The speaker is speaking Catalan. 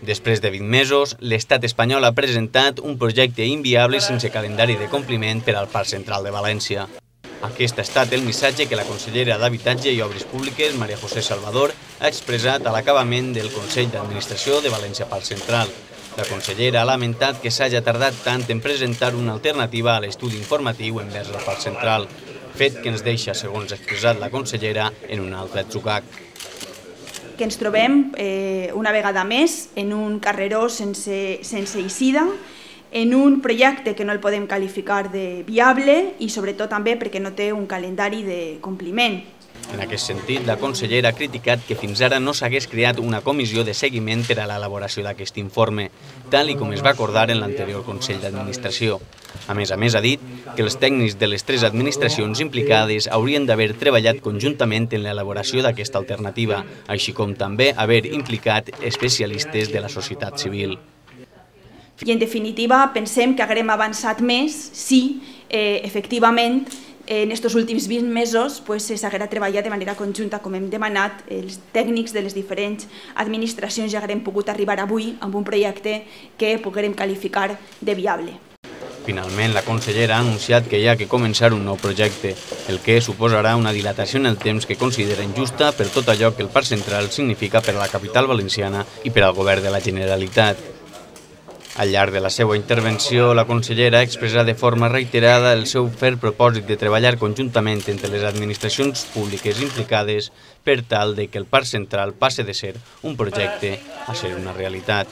Després de 20 mesos, l'estat espanyol ha presentat un projecte inviable sense calendari de compliment per al Parc Central de València. Aquest ha estat el missatge que la consellera d'Habitatge i Obres Públiques, María José Salvador, ha expressat a l'acabament del Consell d'Administració de València Parc Central. La consellera ha lamentat que s'hagi tardat tant en presentar una alternativa a l'estudi informatiu envers el Parc Central, fet que ens deixa, segons ha expressat la consellera, en un altre atzucac. Que ens trobem una vegada més en un carreró sense eixida, en un projecte que no el podem qualificar de viable i sobretot també perquè no té un calendari de compliment. En aquest sentit, la consellera ha criticat que fins ara no s'hagués creat una comissió de seguiment per a l'elaboració d'aquest informe, tal com es va acordar en l'anterior Consell d'Administració. A més, ha dit que els tècnics de les 3 administracions implicades haurien d'haver treballat conjuntament en l'elaboració d'aquesta alternativa, així com també haver implicat especialistes de la societat civil. I en definitiva pensem que haguem avançat més si efectivament en aquests últims 20 mesos s'haguera treballat de manera conjunta, com hem demanat, els tècnics de les diferents administracions ja haguem pogut arribar avui amb un projecte que poguérem qualificar de viable. Finalment, la consellera ha anunciat que hi ha que començar un nou projecte, el que suposarà una dilatació en el temps que considera injusta per tot allò que el Parc Central significa per a la capital valenciana i per al govern de la Generalitat. Al llarg de la seva intervenció, la consellera ha expressat de forma reiterada el seu ferm propòsit de treballar conjuntament entre les administracions públiques implicades per tal que el Parc Central passe de ser un projecte a ser una realitat.